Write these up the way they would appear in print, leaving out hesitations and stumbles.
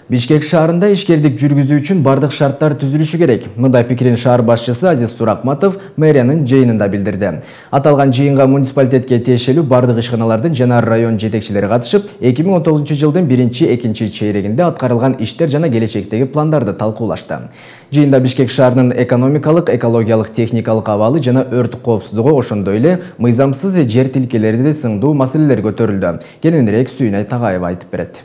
Бишкек шаарында ишкердик жүргүзүү үчүн бардык шарттар түзүлүшү керек. Мындай пикирин шаар башчысы Азиз Суракматов мэриянын жыйынында билдирди. Аталган жыйынга муниципалитетке тиешелүү бардык ишканалардын жана район жетекчилери катышып, 2019 жылдын 1-2 чейрегинде аткарылган иштер жана келечектеги пландарды талкуулашты. Жыйында Бишкек шаарынын экономикалык, экологиялык, техникалык абалы жана өрт коопсуздугу, ошондой эле мыйзамсыз жер тилкелерди сындуу маселелер көтөрүлдү. Кененирээк Сүйүнай Тагаева айтып берет.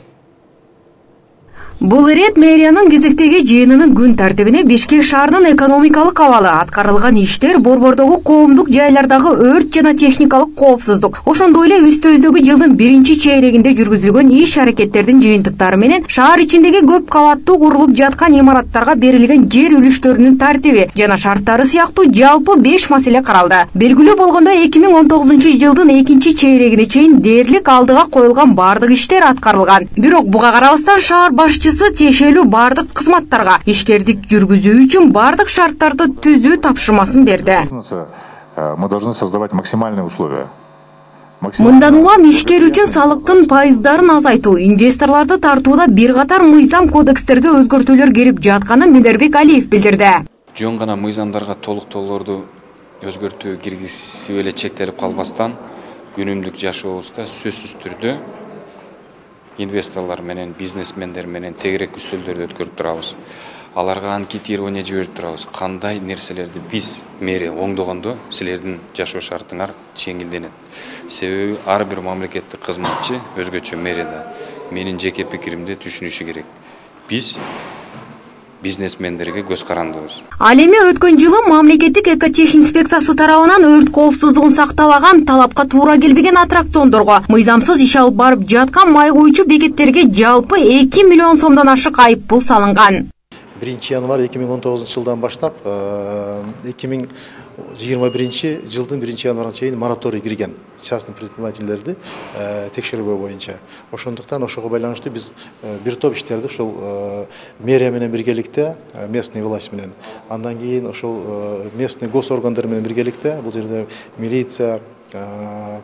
Бул ирет мэриянын кезектеги жыйынынын күн тартибине Бишкек шаарынын экономикалык абалы, аткарылган иштер, борбордогу коомдук жайлардагы өрт жана техникалык коопсуздук, ошондой эле үстүбүздөгү жылдын 1-чейрегинде жүргүзүлгөн иш-аракеттердин жыйынтыктары менен шаар ичиндеги көп кабаттуу курулуп жаткан имараттарга берилген жер үлүштөрүнүн тартиби жана шарттары сыяктуу жалпы 5 маселе каралды. Белгилүү болгондой 2019 жылдын 2-чейрегине чейин дээрлик алдыга коюлган бардык иштер аткарылган. Бирок буга карабастан шаар башчысы тиешелүү бардык кызматтарга ишкердик жүргүзүү үчүн бардык шарттарды түзүү тапшырмасын берди. Мы должны создавать максимальные условия. Мындан улам ишкер үчүн салыктын пайыздарын азайтуу, инвесторлорду тартууда бир катар мыйзам кодекстерге өзгөртүүлөр кирип жатканын Милербек Алиев билдирди. Жөн гана мыйзамдарга толуктоолорду өзгөртүү киргизип эле чектелип калбастан, күнүмдүк жашообузда сөзсүз түрдө инвесторлор менен, бизнесмендер менен тегерек үстөлдөрдү өткөрүп турабыз. Аларга анкетирование жиберип турабыз. Кандай нерселерди биз мэрия оңдогондо силердин жашоо шартыңар жеңилденет. Себеби ар бир мамлекеттик кызматчы өзгөчө мэрияда менин жеке пикиримде түшүнүшү керек. Биз бизнесмендерге көз карандыбыз. Ал эми өткөн жылы мамлекеттик экотехинспекциясы тарабынан өрт коопсуздугун сактабаган, талапка туура келбеген аттракциондорго, мыйзамсыз иш алып барып жаткан май куючу бекеттерге жалпы 2 миллион сомдон ашык айыппул салынган. 1-январь 2019 жылдан баштап 2021 жылдын 1-январына чейин мораторий кирген частный предпринимательдерди текшерүү боюнча. Ошондуктан ошого байланыштуу биз бир топ иштерди ошол мэрия менен биргеликте, местный власть менен, андан кийин ошол местный госоргандар менен биргеликте, бул жерде милиция,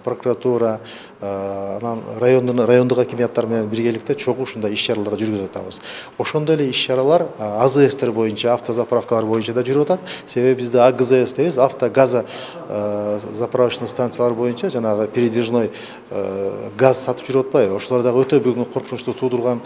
прокуратура, анан райондук акимияттар менен биргеликте чогуу ушундай иш-чаралар жүргүзүп атабыз. Ошондой эле иш-чаралар АЗСтер боюнча, автозаправкалар боюнча да жүрүп атат. Себеби бизде АГЗС дейбиз, автогаза заправочный станциялар боюнча жанагы передвижной газ сатып жүрүп атпайбы? Ошолор дагы өтө бүгүнкү коркунучту туудурган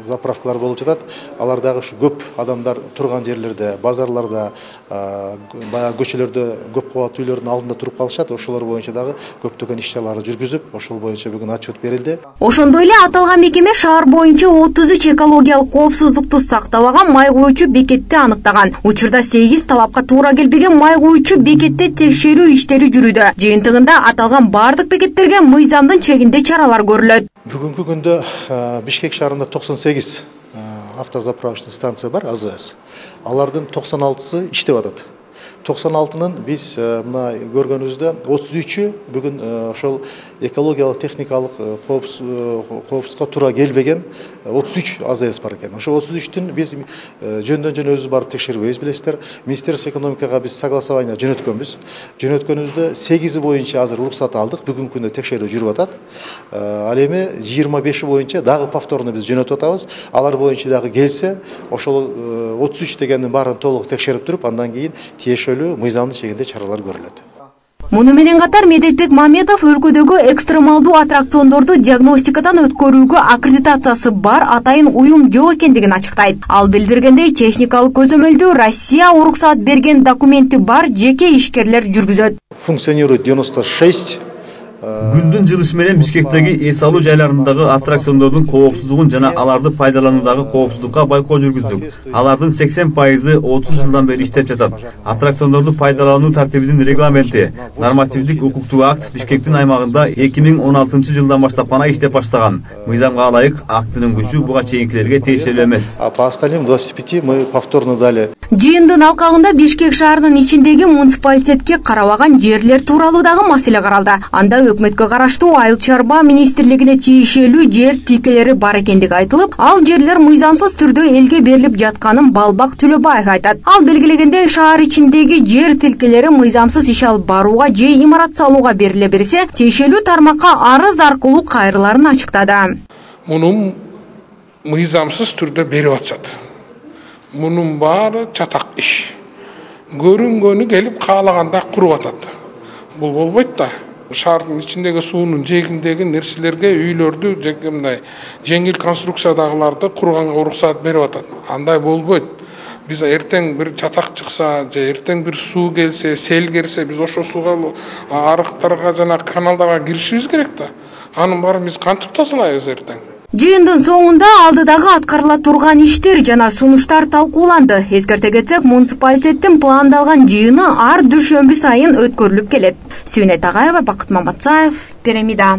заправкалар болуп жатат. Алар дагы ушу көп адамдар турган жерлерде, базарларда, баягы көчөлөрдө, көп кабаттуу үйлөрдүн алдында туруп калышат. Ошолор боюнча дагы көптөгөн иш-чараларды жүргүзүп, ошол боюнча бүгүн отчет берилди. Ошондой эле аталган мекеме шаар боюнча 33 экологиялык коопсуздукту сактабаган май куючу бекетти аныктаган. Учурда 8 талапка туура келбеген май куючу бекетте текшерүү иштери жүрүүдө. Жыйынтыгында аталган бардык бекеттерге мыйзамдын чегинде чаралар көрүлөт. Бүгүнкү күндө Бишкек шаарында 98 автозаправочный станция бар, АЗС. Алардын 96сы иштеп атат. 96-нын биз мына көргөнүбүздө 33-ү бүгүн ошол экологиялык, техникалык коопсуздукка туура келбеген 33 АЗС бар экен. Ошо 33-түн биз жөндөн-жөн өзүбүз барып текшербейбиз, билесиздер. Министерство экономикага биз согласование жөнөткөнбүз. Жөнөткөнүбүздө 8 боюнча азыр уруксат алдык, бүгүнкү күндө текшерүү жүрүп атат. Ал эми 25 боюнча дагы повторно биз жөнөтүп атабыз. Алар боюнча дагы келсе, ошол 33 дегендин баарын толук текшерип туруп, андан кийин тиешелүү мыйзамдын чегинде чаралар көрүлөт. Муну менен катар Медетбек Маметов өлкөдөгү экстремалдуу аттракциондорду диагностикадан өткөрүүгө аккредитациясы бар атайын уюм жок экендигин ачыктайт. Ал билдиргендей, техникалык көзөмөлдү Россия уруксат берген документи бар жеке ишкерлер жүргүзөт. Функционирует 96 Күндүн жылышы менен Бишкектеги эс алуу жайларындагы аттракциондордун коопсуздугун жана аларды пайдалануудагы коопсуздукка байкоо жүргүздүк. Алардын 80% 30 жылдан бери иштеп жатат. Аттракциондорду пайдалануу тартибинин регламенти, нормативдик укуктук акт Бишкектин аймагында 2016 жылдан баштап гана иштеп баштаган. Мыйзамга ылайык актынын күчү буга чейинкилерге тиешелүү эмес. А по остальным 25 мы повторно дали. Жыйындын алкагында Бишкек шаарынын ичиндеги муниципалитетке карабаган жерлер тууралуу дагы маселе каралды. Анда өкмөткө караштуу Айыл чарба министрлигине тиешелүү жер тилкелери бар экендиги айтылып, ал жерлер мыйзамсыз түрдө элге берилип жатканын Балбак Төлөбаев айтат. Ал белгилегендей, шаар ичиндеги жер тилкелери мыйзамсыз иш алып барууга же имарат салууга бериле берсе, тиешелүү тармакка арыз аркылуу кайрыларын ачыктады. Мунун мыйзамсыз түрдө берип атышат. Мунун баары чатак иш. Көрүнгөнү келип каалаганда куруп атат. Бул болбойт да. Шаардын ичиндеги суунун жээгиндеги нерселерге үйлөрдү мындай жеңил конструкциядагыларды курганга уруксат берип атат. Андай болбойт. Биз эртең бир чатак чыкса, же эртең бир суу келсе, сел келсе, биз ошо сууга арыктарга жана каналдарга киришибиз керек да. Анын баарын биз кантип тазалайбыз эртең? Жыйындын соңунда алдыдагы аткарыла турган иштер жана сунуштар талкууланды. Эскерте кетсек, муниципалитеттин пландалган жыйыны ар дүйшөмбү сайын өткөрүлүп келет. Сүйнөт Агаева, Бакыт Маматсаев, Пирамида.